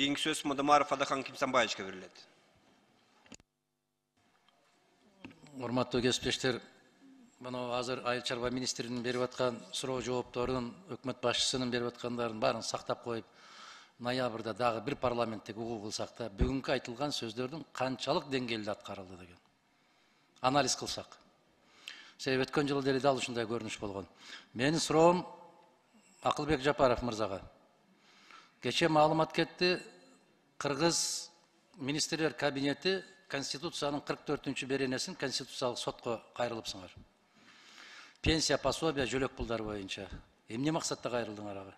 Кийинки сөз Мудамаров Адахан Кимсанбаевичке берилет. Урматтуу кесиптештер, мына азыр Айыл чарба министринин берип аткан суроо жоопторун, өкмөт башчысынын берип аткандарын баарын сактап коюп, ноябрда дагы бир парламенттик угуу кылсак да, бүгүнкү айтылган сөздөрдүн канчалык деңгээлде аткарылды деген анализ кылсак. Себеби өткөн жылы деле дал ушундай көрүнүш болгон. Менин суроом Акылбек Жапаров мырзага. Кече маалымат кетти, Кыргыз министрлер кабинети Конституциянын 44-чү беренесин Конституциялык сотко кайрылыпсыңар. Пенсия, пособия, жөлөк пулдар боюнча. Эмне максатта кайрылдыңар ага?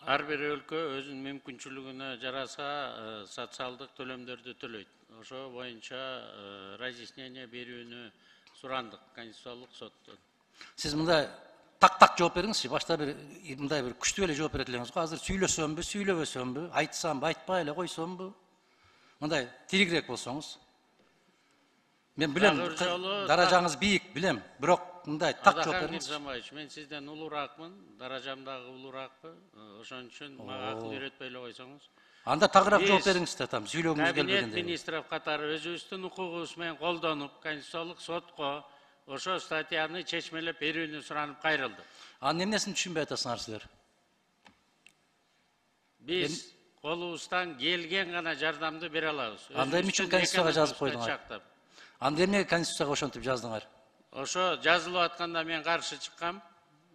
Ар бир өлкө өзүнүн мүмкүнчүлүгүнө жараса социалдык төлөмдөрдү төлөйт. Ошо боюнча разъяснение берүүнү сурандык Конституциялык соттон. Сиз мындай так жооп бериңизчи. Башта мындай бир күчтүү эле жооп берет элеңиз го. Азыр сүйлөсөмбү, сүйлөбөсөмбү, айтсамбы, айтпай эле койсомбу? Мындай тиригирээк болсоңуз. Мен билем, даражаңыз бийик, билем, бирок мындай так жооп бериңиз. Кимсанбаевич, мен сизден улураакмын, даражам дагы улураакпы? Ошон үчүн мага акыл үйрөтпөй эле койсоңуз. Анда тагыраак жооп бериңиз да, там сүйлөгүңүз келбегенде. Кабинет министров катары өзүбүздүн укугубуз менен колдонуп, Конституциялык сотко ошо статьяны чечмелеп берүүнү суранып кайрылды. Анын эмнесин түшүнбөй атасыңар силер? Биз колубуздан келген гана жардамды бере алабыз. Анда эмне үчүн Конституцияга жазып койдуңар? Анда эмне Конституцияга ошентип жаздыңар? Ошо жазылып атканда мен каршы чыккам.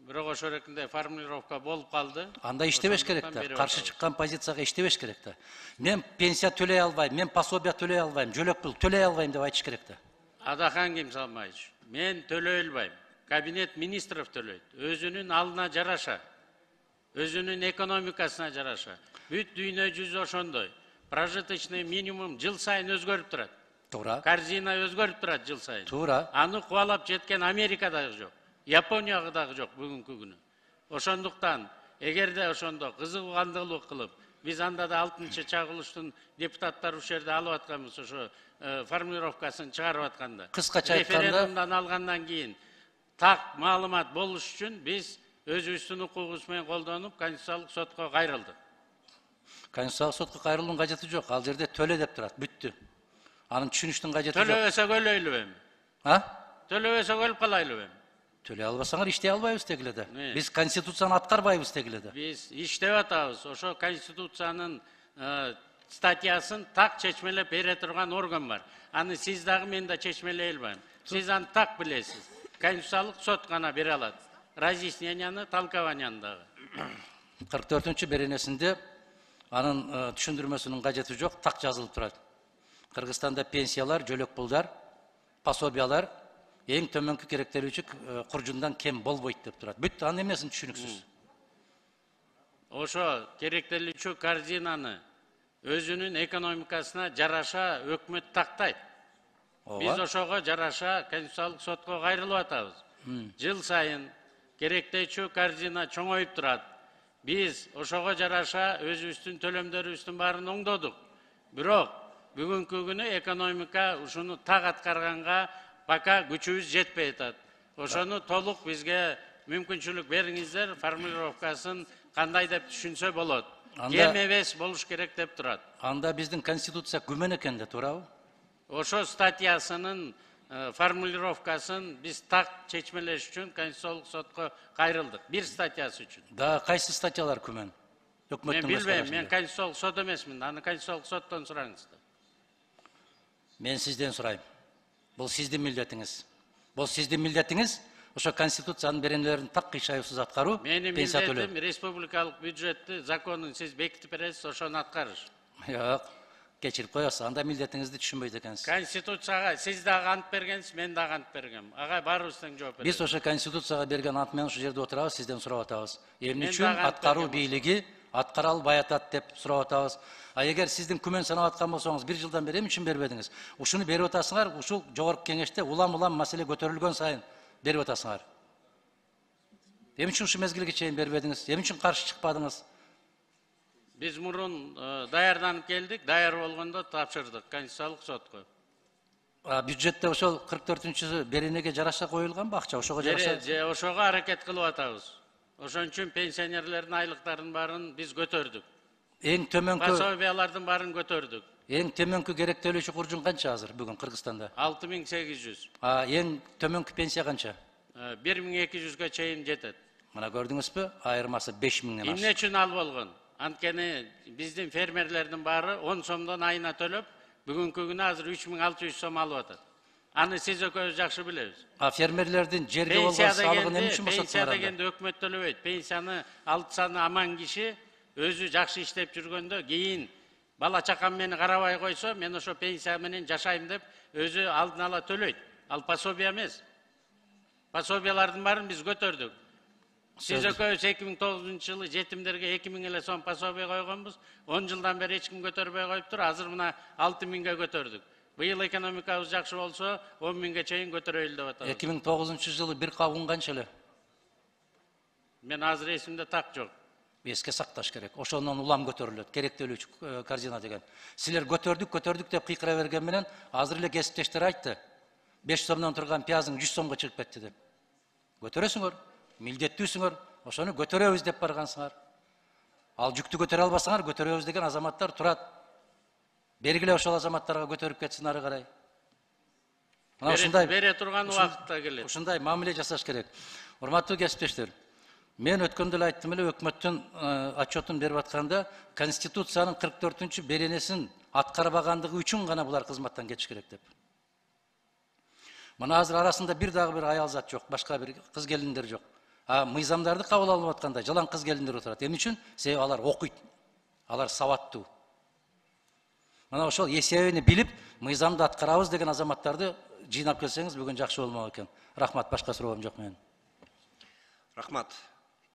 Бирок ошо эркинде формулировка болуп калды. Анда иштебеш керек да. Каршы чыккан позицияга иштебеш керек да. Мен пенсия төлөй албайм, мен пособия төлөй албайм, жөлөк пул төлөй албайм деп айтыш керек да. Адахан Кимсанбаевич, мен төлөй албайм. Кабинет министров төлөйт. Өзүнүн алына жараша, өзүнүн экономикасына жараша. Бүт дүйнө жүзү ошондой. Прожиточный минимум жыл сайын өзгөрүп турат. Туура. Корзина өзгөрүп турат жыл сайын. Туура. Аны кубалап жеткен Америка дагы жок. Япония дагы жок бүгүнкү күнү. Ошондуктан эгерде ошондо кызыгандылык кылып, биз анда да 6-чагылыштын депутаттары ушул жерде алып атканбыз, ошо формулировкасын чыгарып атканда. Кыскача айтканда, референдумдан алгандан кийин так маалымат болуш үчүн биз өзүбүздүн укугубуз менен колдонуп, Конституциялык сотко кайрылдык. Конституциялык сотко кайрылуунун кажети жок. Ал жерде төлө деп турат, бүттү. Анын түшүнүштүн кажети жок. Төлөбөсөк өлөйлүбү эми? Төлөбөсөк өлүп калайлыбы эми? Төлөй албасаңар иштей албайбыз дегиле да. Биз Конституцияны аткарбайбыз дегиле да. Биз иштеп атабыз. Ошо Конституциянын статьясын так чечмелеп бере турган орган бар. Аны сиз дагы мен да чечмелей албайм. Сиз аны так билесиз. Конституциялык сот гана бере алат. Разъясненияны, толкованияны дагы. 44-чү беренесинде анын түшүндүрмөсүнүн кажети жок, так жазылып турат. Кыргызстанда пенсиялар, жөлөк пулдар, пособиялар эң төмөнкү керектелүүчү куржундан кем болбойт деп турат. Бүт анын эмнесин түшүнүксүз. Ошо керектелүүчү корзинаны өзүнүн экономикасына жараша өкмөт тактайт. Биз ошого жараша Конституциялык сотко кайрылып атабыз. Жыл сайын керектелүүчү корзина чоңоюп турат. Биз ошого жараша өзүбүздүн төлөмдөрүбүздүн баарын оңдодук. Бирок бүгүнкү күнү экономика ушуну так аткарганга пока күчүбүз жетпей атат. Ошону толук бизге мүмкүнчүлүк бериңиздер, формулировкасын кандай деп түшүнсө болот. Кем эмес болуш керек деп турат. Анда биздин Конституция күмөн экен да, туурабы? Ошо статьясынын формулировкасын биз так чечмелеш үчүн Конституциялык сотко кайрылдык. Бир статьясы үчүн. Да, кайсы статьялар күмөн? Мен билбейм, мен Конституциялык сот эмесмин. Аны Конституциялык соттон сураңыз. Мен сизден сурайм. Бул сиздин милдетиңиз. Бул сиздин милдетиңиз. Ошо Конституциянын беренелерин так кыйшайсыз аткаруу, пенсия төлөө. Менин милдетим республикалык бюджетти, законун сиз бекитип бересиз, ошону аткарыш. Жок, кечирип коесуз. Анда милдетиңизди түшүнбөйт экенсиз. Конституцияга сиз дагы ант бергенсиз, мен дагы ант бергем. Ага баарыбыз тең жооп беребиз. Биз ошо Конституцияга берген ант менен ушул жерде отурабыз, сизден сурап атабыз. Эмне үчүн аткаруу бийлиги аткара албай атат деп сурап атабыз. А эгер сиздин күмөн санап аткан болсоңуз, бир жылдан бери эмне үчүн бербедиңиз? Ушуну берип атасыңар, ушул жогорку кеңеште улам-улам маселе көтөрүлгөн сайын берип атасыңар. Эмне үчүн ушу мезгилге чейин бербедиңиз? Эмне үчүн каршы чыкпадыңыз? Биз мурун даярданып келдик, даяр болгондо тапшырдык Конституциялык сотко. Бюджетте ошол 44-чү беренеге жараша коюлганбы акча? Ошого жараша? Ошого аракет кылып атабыз. Ошон үчүн пенсионерлердин айлыктарынын баарын биз көтөрдүк. Эң төмөнкү Пособиялардын баарын көтөрдүк. эң төмөнкү керектелүүчү куржун канча азыр бүгүн Кыргызстанда? 6800. Эң төмөнкү пенсия канча? 1200га чейин жетет. Мына көрдүңүзбү? Айырмасы 5000ден ашты. Эмне үчүн ал болгон? Анткени биздин фермерлердин баары 10 сомдон айына төлөп, бүгүнкү күнү азыр 3600 сом алып атат. Аны сиз экөөбүз жакшы билебиз. Фермерлердин жерге болгон салыгын эмне үчүн Пенсия босотмагандар? дегенде өкмөт төлөбөйт. Пенсияны алтсаны аман киши өзү жакшы иштеп жүргөндө кийин бала чакам мени карабай койсо, мен ошо пенсия менен жашайм деп өзү алдын ала төлөйт. Ал пособия эмес. Пособиялардын баарын биз көтөрдүк. Сиз экөөбүз 2009 жылы жетимдерге 2000 эле сом пособия койгонбуз. 10 жылдан бери эч ким көтөрбөй коюптур. Азыр мына 6000ге көтөрдүк. Быйыл экономикабыз жакшы болсо 10.000ге чейин көтөрөйлү деп атабыз. 2009 жылы бир кабын канча эле? Мен азыр эсимде так жок. Эске сакташ керек. Ошондон улам көтөрүлөт. Керектелүүчү корзина деген. Силер көтөрдүк деп кыйкыра берген менен азыр эле кесиптештер айтты. 5 сомдон турган пиязың 100 сомго чыгып кетти деп. Көтөрөсүңөр, милдеттүүсүңөр, ошону көтөрөбүз деп баргансыңар. Ал жүктү көтөрө албасаңар, көтөрөбүз деген азаматтар турат. Бергиле ошол азаматтарга көтөрүп кетсин ары карай. Мына ушундай бере турган убакытта келет. Ушундай мамиле жасаш керек. Урматтуу кесиптештер, мен өткөндө эле айттым эле, өкмөттүн отчетун берип атканда Конституциянын 44-чү беренесин аткарбагандыгы үчүн гана булар кызматтан кетиш керек деп. Мына азыр арасында бир аял зат жок, башка бир кыз келиндер жок. Мыйзамдарды кабыл алып атканда жалаң кыз келиндер отурат. Эмне үчүн? Себеби алар окуйт. Алар сабаттуу. Мына ошол эсебини билип, мыйзамды аткарабыз деген азаматтарды жыйнап келсеңиз бүгүн жакшы болмок экен. Рахмат, башка суроом жок менин. Рахмат.